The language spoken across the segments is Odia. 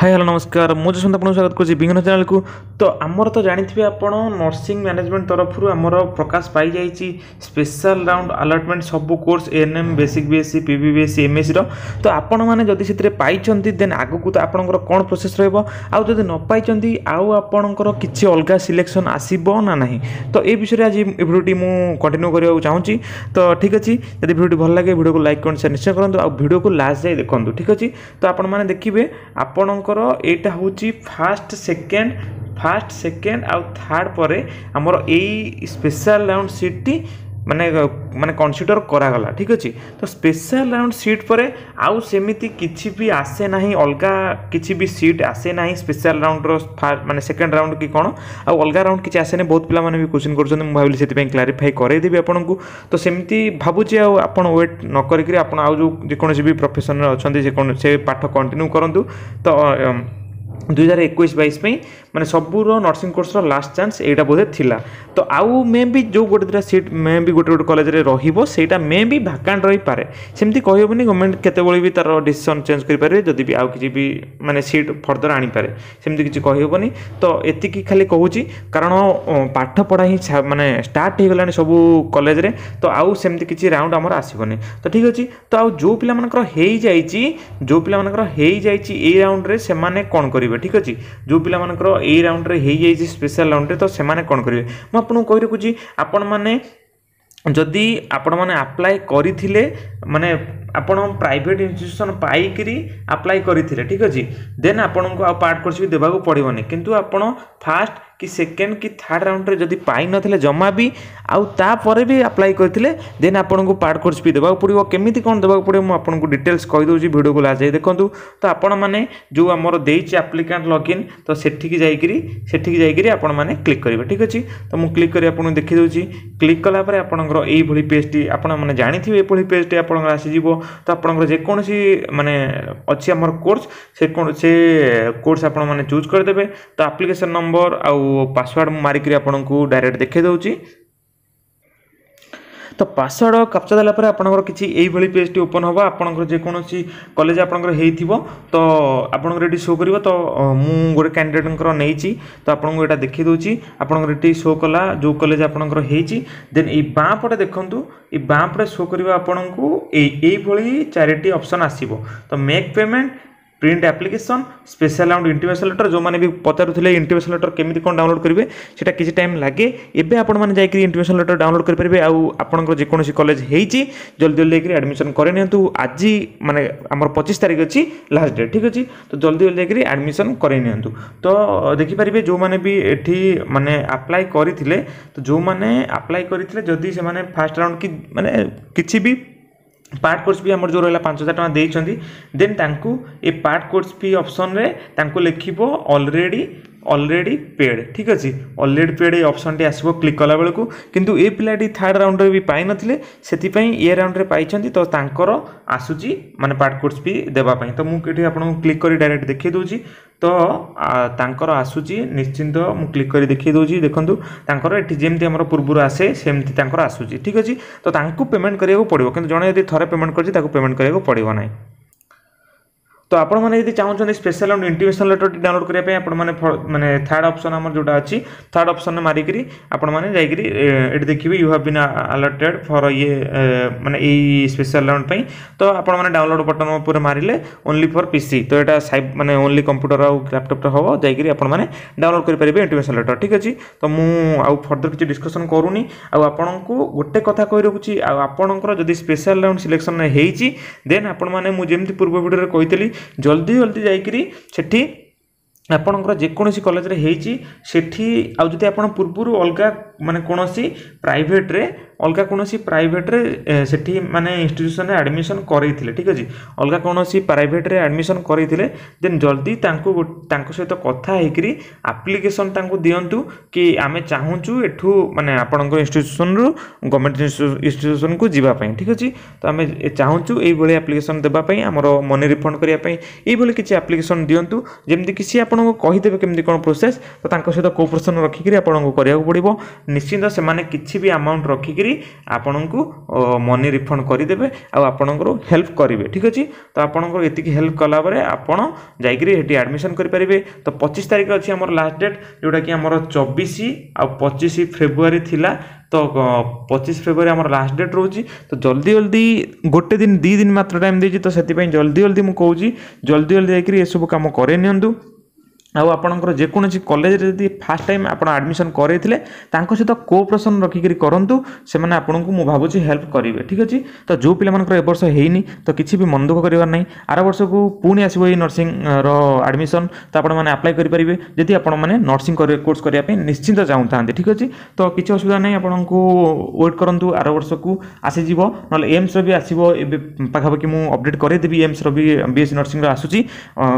ହାଇ, ହ୍ୟାଲୋ, ନମସ୍କାର। ମୁଁ ଯଶବନ୍ତ ଆପଣଙ୍କୁ ସ୍ୱାଗତ କରୁଛି ବିଘ୍ନ ଚ୍ୟାନେଲକୁ। ତ ଆମର ତ ଜାଣିଥିବେ ଆପଣ, ନର୍ସିଂ ମ୍ୟାନେଜମେଣ୍ଟ ତରଫରୁ ଆମର ପ୍ରକାଶ ପାଇଯାଇଛି ସ୍ପେଶାଲ ରାଉଣ୍ଡ ଆଲଟମେଣ୍ଟ ସବୁ course, ANM, basic BSc, PB BSc, ଏମ୍ଏସ୍ସିର। ତ ଆପଣମାନେ ଯଦି ସେଥିରେ ପାଇଛନ୍ତି, ଦେନ୍ ଆଗକୁ ତ ଆପଣଙ୍କର କ'ଣ ପ୍ରୋସେସ୍ ରହିବ, ଆଉ ଯଦି ନ ପାଇଛନ୍ତି, ଆଉ ଆପଣଙ୍କର କିଛି ଅଲଗା ସିଲେକ୍ସନ୍ ଆସିବ ନା ନାହିଁ, ତ ଏ ବିଷୟରେ ଆଜି ଏ ଭିଡ଼ିଓଟି ମୁଁ କଣ୍ଟିନ୍ୟୁ କରିବାକୁ ଚାହୁଁଛି। ତ ଠିକ୍ ଅଛି, ଯଦି ଭିଡ଼ିଓଟି ଭଲ ଲାଗେ, ଭିଡ଼ିଓକୁ ଲାଇକ୍, କମେଣ୍ଟ, ସେୟାର ନିଶ୍ଚୟ କରନ୍ତୁ ଆଉ ଭିଡ଼ିଓକୁ ଲାଷ୍ଟ ଯାଏ ଦେଖନ୍ତୁ। ଠିକ୍ ଅଛି, ତ ଆପଣମାନେ ଦେଖିବେ, ଆପଣଙ୍କର ଏଇଟା ହେଉଛି ଫାଷ୍ଟ, ସେକେଣ୍ଡ ଆଉ ଥାର୍ଡ଼ ପରେ ଆମର ଏଇ ସ୍ପେଶାଲ ରାଉଣ୍ଡ ସିଟ୍ଟି ମାନେ କନସିଡ଼ର କରାଗଲା। ଠିକ୍ ଅଛି, ତ ସ୍ପେଶାଲ ରାଉଣ୍ଡ ସିଟ୍ ପରେ ଆଉ ସେମିତି କିଛି ବି ଆସେ ନାହିଁ, ଅଲଗା କିଛି ବି ସିଟ୍ ଆସେ ନାହିଁ। ସ୍ପେଶାଲ ରାଉଣ୍ଡର ମାନେ ସେକେଣ୍ଡ ରାଉଣ୍ଡ କି କ'ଣ, ଆଉ ଅଲଗା ରାଉଣ୍ଡ କିଛି ଆସେନି। ବହୁତ ପିଲାମାନେ ବି କୋଶ୍ଚିନ୍ କରୁଛନ୍ତି, ମୁଁ ଭାବିଲି ସେଥିପାଇଁ କ୍ଲାରିଫାଇ କରାଇଦେବି ଆପଣଙ୍କୁ। ତ ସେମିତି ଭାବୁଛି, ଆଉ ଆପଣ ୱେଟ୍ ନ କରିକିରି ଆପଣ ଆଉ ଯେଉଁ ଯେକୌଣସି ବି ପ୍ରଫେସନରେ ଅଛନ୍ତି, ସେ ପାଠ କଣ୍ଟିନ୍ୟୁ କରନ୍ତୁ। ତ 2021-22 ପାଇଁ ମାନେ ସବୁର ନର୍ସିଂ କୋର୍ସର ଲାଷ୍ଟ ଚାନ୍ସ ଏଇଟା ବୋଧେ ଥିଲା। ତ ଆଉ ମେ ବି ଯେଉଁ ଗୋଟେ ଦୁଇଟା ସିଟ୍ ମେ ବି ଗୋଟେ ଗୋଟେ କଲେଜରେ ରହିବ, ସେଇଟା ମେ ବି ଭାକାଣ୍ଟ ରହିପାରେ। ସେମିତି କହିହେବନି, ଗଭର୍ଣ୍ଣମେଣ୍ଟ କେତେବେଳେ ବି ତା'ର ଡିସିସନ୍ ଚେଞ୍ଜ କରିପାରିବେ, ଯଦି ବି ଆଉ କିଛି ବି ମାନେ ସିଟ୍ ଫର୍ଦର ଆଣିପାରେ, ସେମିତି କିଛି କହିହେବନି। ତ ଏତିକି ଖାଲି କହୁଛି, କାରଣ ପାଠ ପଢ଼ା ହିଁ ମାନେ ଷ୍ଟାର୍ଟ ହେଇଗଲାଣି ସବୁ କଲେଜରେ, ତ ଆଉ ସେମିତି କିଛି ରାଉଣ୍ଡ ଆମର ଆସିବନି। ତ ଠିକ୍ ଅଛି, ତ ଆଉ ଯେଉଁ ପିଲାମାନଙ୍କର ହେଇଯାଇଛି ଏଇ ରାଉଣ୍ଡରେ, ସେମାନେ କ'ଣ କରିବେ? ଠିକ୍ ଅଛି, ଯେଉଁ ପିଲାମାନଙ୍କର ଏଇ ରାଉଣ୍ଡରେ ହେଇଯାଇଛି, ସ୍ପେଶାଲ ରାଉଣ୍ଡରେ, ତ ସେମାନେ କ'ଣ କରିବେ? ମୁଁ ଆପଣଙ୍କୁ କହି ରଖୁଛି, ଆପଣମାନେ ଯଦି ଆପଣମାନେ ଆପ୍ଲାଏ କରିଥିଲେ, ମାନେ ଆପଣ ପ୍ରାଇଭେଟ୍ ଇନଷ୍ଟିଟ୍ୟୁସନ୍ ପାଇକିରି ଆପ୍ଲାଏ କରିଥିଲେ, ଠିକ୍ ଅଛି, ଦେନ୍ ଆପଣଙ୍କୁ ଆଉ ପାର୍ଟ କୋର୍ସ ବି ଦେବାକୁ ପଡ଼ିବନି। କିନ୍ତୁ ଆପଣ ଫାଷ୍ଟ କି ସେକେଣ୍ଡ କି ଥାର୍ଡ଼ ରାଉଣ୍ଡରେ ଯଦି ପାଇନଥିଲେ ଜମା ବି, ଆଉ ତାପରେ ବି ଆପ୍ଲାଏ କରିଥିଲେ, ଦେନ୍ ଆପଣଙ୍କୁ ପାର୍ଟ କୋର୍ସ ବି ଦେବାକୁ ପଡ଼ିବ। କେମିତି କ'ଣ ଦେବାକୁ ପଡ଼ିବ, ମୁଁ ଆପଣଙ୍କୁ ଡିଟେଲ୍ସ କହିଦେଉଛି, ଭିଡ଼ିଓକୁ ଲାଷ୍ଟ ଯାଇ ଦେଖନ୍ତୁ। ତ ଆପଣମାନେ ଯେଉଁ ଆମର ଦେଇଛି ଆପ୍ଲିକାଣ୍ଟ ଲଗ୍ଇନ୍, ତ ସେଠିକି ଯାଇକିରି ଆପଣମାନେ କ୍ଲିକ୍ କରିବେ। ଠିକ୍ ଅଛି, ତ ମୁଁ କ୍ଲିକ୍ କରି ଆପଣଙ୍କୁ ଦେଖିଦେଉଛି। କ୍ଲିକ୍ କଲା ପରେ ଆପଣଙ୍କର ଏଇଭଳି ପେଜ୍ଟି, ଆପଣମାନେ ଜାଣିଥିବେ, ଏଭଳି ପେଜ୍ଟି ଆପଣଙ୍କର ଆସିଯିବ। ତ ଆପଣଙ୍କର ଯେକୌଣସି ମାନେ ଅଛି ଆମର କୋର୍ସ, ସେ କୋର୍ସ ଆପଣମାନେ ଚୁଜ୍ କରିଦେବେ। ତ ଆପ୍ଲିକେସନ୍ ନମ୍ବର ଆଉ ପାସୱାର୍ଡ଼ ମୁଁ ମାରିକିରି ଆପଣଙ୍କୁ ଡାଇରେକ୍ଟ ଦେଖାଇ ଦେଉଛି। ତ ପାସୱାର୍ଡ଼ କ୍ୟାପଚା ଦେଲା ପରେ ଆପଣଙ୍କର କିଛି ଏଇଭଳି ପେଜ୍ଟି ଓପନ୍ ହେବ। ଆପଣଙ୍କର ଯେକୌଣସି କଲେଜ ଆପଣଙ୍କର ହେଇଥିବ, ତ ଆପଣଙ୍କର ଏଠି ଶୋ କରିବ। ତ ମୁଁ ଗୋଟେ କ୍ୟାଣ୍ଡିଡେଟ୍ଙ୍କର ନେଇଛି, ତ ଆପଣଙ୍କୁ ଏଇଟା ଦେଖାଇ ଦେଉଛି। ଆପଣଙ୍କର ଏଠି ଶୋ କଲା ଯେଉଁ କଲେଜ ଆପଣଙ୍କର ହେଇଛି। ଦେନ୍ ଏଇ ବାଁ ପଟେ ଦେଖନ୍ତୁ, ଏଇ ବାଁ ପଟେ ଶୋ କରିବ ଆପଣଙ୍କୁ ଏଇଭଳି ଚାରିଟି ଅପସନ୍ ଆସିବ। ତ make payment, print application, special round intimation letter. ଯେଉଁମାନେ ବି ପଚାରୁଥିଲେ ଇଣ୍ଟିମେସନ୍ ଲେଟର୍ କେମିତି କ'ଣ ଡାଉନଲୋଡ଼ କରିବେ, ସେଇଟା କିଛି ଟାଇମ୍ ଲାଗେ। ଏବେ ଆପଣମାନେ ଯାଇକରି ଇଣ୍ଟିମେସନ୍ ଲେଟର୍ ଡାଉନଲୋଡ଼ କରିପାରିବେ। ଆଉ ଆପଣଙ୍କର ଯେକୌଣସି କଲେଜ ହେଇଛି, ଜଲ୍ଦି ଜଲ୍ଦି ଯାଇକରି ଆଡ଼ମିସନ୍ କରିନିଅନ୍ତୁ। ଆଜି ମାନେ ଆମର 25 ତାରିଖ ଅଛି ଲାଷ୍ଟ ଡେଟ୍। ଠିକ୍ ଅଛି, ତ ଜଲ୍ଦି ଜଲ୍ଦି ଯାଇକରି ଆଡ଼ମିସନ୍ କରାଇ ନିଅନ୍ତୁ। ତ ଦେଖିପାରିବେ, ଯେଉଁମାନେ ବି ଏଠି ମାନେ ଆପ୍ଲାଏ କରିଥିଲେ, ତ ଯେଉଁମାନେ ଆପ୍ଲାଏ କରିଥିଲେ, ଯଦି ସେମାନେ ଫାଷ୍ଟ ରାଉଣ୍ଡ କି ମାନେ କିଛି ବି ପାର୍ଟ କୋର୍ସ ଫି ଆମର ଯେଉଁ ରହିଲା 5000 ଟଙ୍କା ଦେଇଛନ୍ତି, ଦେନ୍ ତାଙ୍କୁ ଏ ପାର୍ଟ କୋର୍ସ ଫି ଅପସନ୍ରେ ତାଙ୍କୁ ଲେଖିବ ଅଲରେଡ଼ି ପେଡ଼୍। ଠିକ୍ ଅଛି, ଅଲରେଡ଼ି ପେଡ଼୍ ଏ ଅପସନ୍ଟି ଆସିବ କ୍ଲିକ୍ କଲା ବେଳକୁ। କିନ୍ତୁ ଏ ପିଲାଟି ଥାର୍ଡ଼ ରାଉଣ୍ଡରେ ବି ପାଇନଥିଲେ, ସେଥିପାଇଁ ଏ ରାଉଣ୍ଡରେ ପାଇଛନ୍ତି, ତ ତାଙ୍କର ଆସୁଛି ମାନେ ପାର୍ଟ କୋର୍ସ ଫି ଦେବା ପାଇଁ। ତ ମୁଁ ଏଠି ଆପଣଙ୍କୁ କ୍ଲିକ୍ କରି ଡାଇରେକ୍ଟ ଦେଖାଇ ଦେଉଛି। ତ ତାଙ୍କର ଆସୁଛି ନିଶ୍ଚିନ୍ତ, ମୁଁ କ୍ଲିକ୍ କରି ଦେଖାଇ ଦେଉଛି। ଦେଖନ୍ତୁ, ତାଙ୍କର ଏଠି ଯେମିତି ଆମର ପୂର୍ବରୁ ଆସେ, ସେମିତି ତାଙ୍କର ଆସୁଛି। ଠିକ୍ ଅଛି, ତ ତାଙ୍କୁ ପେମେଣ୍ଟ କରିବାକୁ ପଡ଼ିବ। କିନ୍ତୁ ଜଣେ ଯଦି ଥରେ ପେମେଣ୍ଟ କରିଛି, ତାକୁ ପେମେଣ୍ଟ କରିବାକୁ ପଡ଼ିବ ନାହିଁ। ତ ଆପଣମାନେ ଯଦି ଚାହୁଁଛନ୍ତି ସ୍ପେଶାଲ ରାଉଣ୍ଡ ଇଣ୍ଟିମେସନ୍ ଲେଟର୍ଟି ଡାଉନଲୋଡ଼ କରିବା ପାଇଁ, ଆପଣମାନେ ମାନେ ଥାର୍ଡ଼ ଅପସନ୍ ଆମର ଯେଉଁଟା ଅଛି, ଥାର୍ଡ଼ ଅପସନ୍ରେ ମାରିକିରି ଆପଣମାନେ ଯାଇକିରି ଏଠି ଦେଖିବେ, "You have been allotted for" ଇଏ ମାନେ ଏଇ ସ୍ପେଶାଲ ରାଉଣ୍ଡ ପାଇଁ। ତ ଆପଣମାନେ ଡାଉନଲୋଡ଼ ବଟନ୍ ଉପରେ ମାରିଲେ ଓନ୍ଲି ଫର୍ ପିସି, ତ ଏଇଟା ସାଇ ମାନେ ଓନ୍ଲି କମ୍ପ୍ୟୁଟର ଆଉ ଲ୍ୟାପଟପ୍ରେ ହେବ, ଯାଇକିରି ଆପଣମାନେ ଡାଉନଲୋଡ଼ କରିପାରିବେ ଇଣ୍ଟିମେସନ୍ ଲେଟର୍। ଠିକ୍ ଅଛି, ତ ମୁଁ ଆଉ ଫର୍ଦର କିଛି ଡିସ୍କସନ୍ କରୁନି। ଆଉ ଆପଣଙ୍କୁ ଗୋଟେ କଥା କହି ରଖୁଛି, ଆଉ ଆପଣଙ୍କର ଯଦି ସ୍ପେଶାଲ ରାଉଣ୍ଡ ସିଲେକ୍ସନ୍ ହେଇଛି, ଦେନ୍ ଆପଣମାନେ ମୁଁ ଯେମିତି ପୂର୍ବ ଭିଡ଼ିଓରେ କହିଥିଲି, ଜଲ୍ଦି ଜଲ୍ଦି ଯାଇକିରି ସେଠି ଆପଣଙ୍କର ଯେକୌଣସି କଲେଜରେ ହେଇଛି ସେଠି, ଆଉ ଯଦି ଆପଣ ପୂର୍ବରୁ ଅଲଗା ମାନେ କୌଣସି ପ୍ରାଇଭେଟରେ, ଅଲଗା କୌଣସି ପ୍ରାଇଭେଟରେ ସେଠି ମାନେ ଇନଷ୍ଟିଟ୍ୟୁସନରେ ଆଡ଼ମିସନ୍ କରେଇଥିଲେ, ଠିକ୍ ଅଛି, ଅଲଗା କୌଣସି ପ୍ରାଇଭେଟରେ ଆଡ଼ମିସନ୍ କରେଇଥିଲେ, ଦେନ୍ ଜଲ୍ଦି ତାଙ୍କୁ ତାଙ୍କ ସହିତ କଥା ହେଇକିରି ଆପ୍ଲିକେସନ୍ ତାଙ୍କୁ ଦିଅନ୍ତୁ କି ଆମେ ଚାହୁଁଛୁ ଏଠୁ ମାନେ ଆପଣଙ୍କ ଇନଷ୍ଟିଟ୍ୟୁସନରୁ ଗଭର୍ଣ୍ଣମେଣ୍ଟ ଇନଷ୍ଟିଟ୍ୟୁସନକୁ ଯିବା ପାଇଁ। ଠିକ୍ ଅଛି, ତ ଆମେ ଚାହୁଁଛୁ ଏଇଭଳି ଆପ୍ଲିକେସନ୍ ଦେବା ପାଇଁ, ଆମର ମନି ରିଫଣ୍ଡ କରିବା ପାଇଁ, ଏଇଭଳି କିଛି ଆପ୍ଲିକେସନ୍ ଦିଅନ୍ତୁ, ଯେମିତିକି ସିଏ ଆପଣଙ୍କୁ କହିଦେବେ କେମିତି କ'ଣ ପ୍ରୋସେସ୍। ତ ତାଙ୍କ ସହିତ କୋଅପରେସନ୍ ରଖିକିରି ଆପଣଙ୍କୁ କରିବାକୁ ପଡ଼ିବ। ନିଶ୍ଚିନ୍ତ ସେମାନେ କିଛି ବି ଆମାଉଣ୍ଟ ରଖିକିରି ଆପଣଙ୍କୁ ମନି ରିଫଣ୍ଡ କରିଦେବେ ଆଉ ଆପଣଙ୍କର ହେଲ୍ପ କରିବେ। ଠିକ୍ ଅଛି? ତ ଆପଣଙ୍କର ଏତିକି ହେଲ୍ପ କଲା ପରେ ଆପଣ ଯାଇକିରି ସେଠି ଆଡ଼ମିସନ୍ କରିପାରିବେ। ତ 25 ତାରିଖ ଅଛି ଆମର ଲାଷ୍ଟ ଡେଟ୍, ଯେଉଁଟାକି ଆମର 24 ଆଉ 25 ଫେବୃଆରୀ ଥିଲା। ତ 25 ଫେବୃଆରୀ ଆମର ଲାଷ୍ଟ ଡେଟ୍ ରହୁଛି। ତ ଜଲ୍ଦି ଜଲ୍ଦି, ଗୋଟେ ଦିନ 2 ଦିନ ମାତ୍ର ଟାଇମ୍ ଦେଇଛି, ତ ସେଥିପାଇଁ ଜଲ୍ଦି ଜଲ୍ଦି ମୁଁ କହୁଛି, ଜଲ୍ଦି ଜଲ୍ଦି ଯାଇକରି ଏସବୁ କାମ କରେଇ ନିଅନ୍ତୁ। ଆଉ ଆପଣଙ୍କର ଯେକୌଣସି କଲେଜରେ ଯଦି ଫାର୍ଷ୍ଟ ଟାଇମ୍ ଆପଣ ଆଡ଼ମିସନ୍ କରେଇଥିଲେ, ତାଙ୍କ ସହିତ କୋଅପରେସନ୍ ରଖିକିରି କରନ୍ତୁ। ସେମାନେ ଆପଣଙ୍କୁ ମୁଁ ଭାବୁଛି ହେଲ୍ପ କରିବେ। ଠିକ୍ ଅଛି? ତ ଯେଉଁ ପିଲାମାନଙ୍କର ଏ ବର୍ଷ ହେଇନି, ତ କିଛି ବି ମନ ଦୁଃଖ କରିବାର ନାହିଁ। ଆର ବର୍ଷକୁ ପୁଣି ଆସିବ ଏଇ ନର୍ସିଂର ଆଡ଼ମିସନ୍, ତ ଆପଣମାନେ ଆପ୍ଲାଏ କରିପାରିବେ, ଯଦି ଆପଣମାନେ ନର୍ସିଂ କୋର୍ସ କରିବା ପାଇଁ ନିଶ୍ଚିନ୍ତ ଚାହୁଁଥାନ୍ତି। ଠିକ୍ ଅଛି? ତ କିଛି ଅସୁବିଧା ନାହିଁ, ଆପଣଙ୍କୁ ୱେଟ୍ କରନ୍ତୁ, ଆର ବର୍ଷକୁ ଆସିଯିବ। ନହେଲେ ଏମ୍ସର ବି ଆସିବ ଏବେ ପାଖାପାଖି, ମୁଁ ଅପଡ଼େଟ୍ କରେଇଦେବି। ଏମ୍ସର ବି ବି ଏସ୍ ସି ନର୍ସିଂର ଆସୁଛି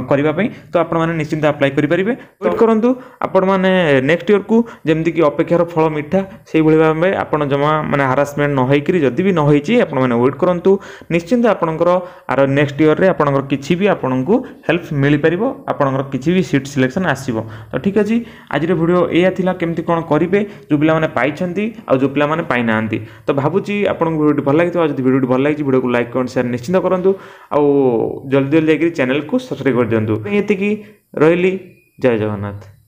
କରିବା ପାଇଁ, ତ ଆପଣମାନେ ନିଶ୍ଚିନ୍ତ ଆପ୍ଲାଏ କରିପାରିବେ। ୱେଟ୍ କରନ୍ତୁ ଆପଣମାନେ ନେକ୍ସଟ ଇୟରକୁ। ଯେମିତିକି ଅପେକ୍ଷାର ଫଳ ମିଠା, ସେଇଭଳି ଭାବେ ଆପଣ ଜମା ମାନେ ହାରାସମେଣ୍ଟ ନ ହେଇକରି, ଯଦି ବି ନ ହେଇଛି, ଆପଣମାନେ ୱେଟ୍ କରନ୍ତୁ। ନିଶ୍ଚିନ୍ତ ଆପଣଙ୍କର ଆର ନେକ୍ସଟ ଇୟରରେ ଆପଣଙ୍କର କିଛି ବି ଆପଣଙ୍କୁ ହେଲ୍ପ ମିଳିପାରିବ, ଆପଣଙ୍କର କିଛି ବି ସିଟ୍ ସିଲେକ୍ସନ୍ ଆସିବ। ତ ଠିକ୍ ଅଛି, ଆଜିର ଭିଡ଼ିଓ ଏଇଆ ଥିଲା, କେମିତି କ'ଣ କରିବେ ଯେଉଁ ପିଲାମାନେ ପାଇଛନ୍ତି ଆଉ ଯେଉଁ ପିଲାମାନେ ପାଇନାହାନ୍ତି। ତ ଭାବୁଛି ଆପଣଙ୍କୁ ଭିଡ଼ିଓଟି ଭଲ ଲାଗିଥିବ। ଆଉ ଯଦି ଭିଡ଼ିଓଟି ଭଲ ଲାଗିଛି, ଭିଡ଼ିଓକୁ ଲାଇକ୍, କମେଣ୍ଟ, ସେୟାର ନିଶ୍ଚିନ୍ତ କରନ୍ତୁ ଆଉ ଜଲ୍ଦି ଜଲ୍ଦି ଯାଇକରି ଚ୍ୟାନେଲକୁ ସବସ୍କ୍ରାଇବ୍ କରିଦିଅନ୍ତୁ। ଏତିକି ରହିଲି, ଜୟ ଜଗନ୍ନାଥ।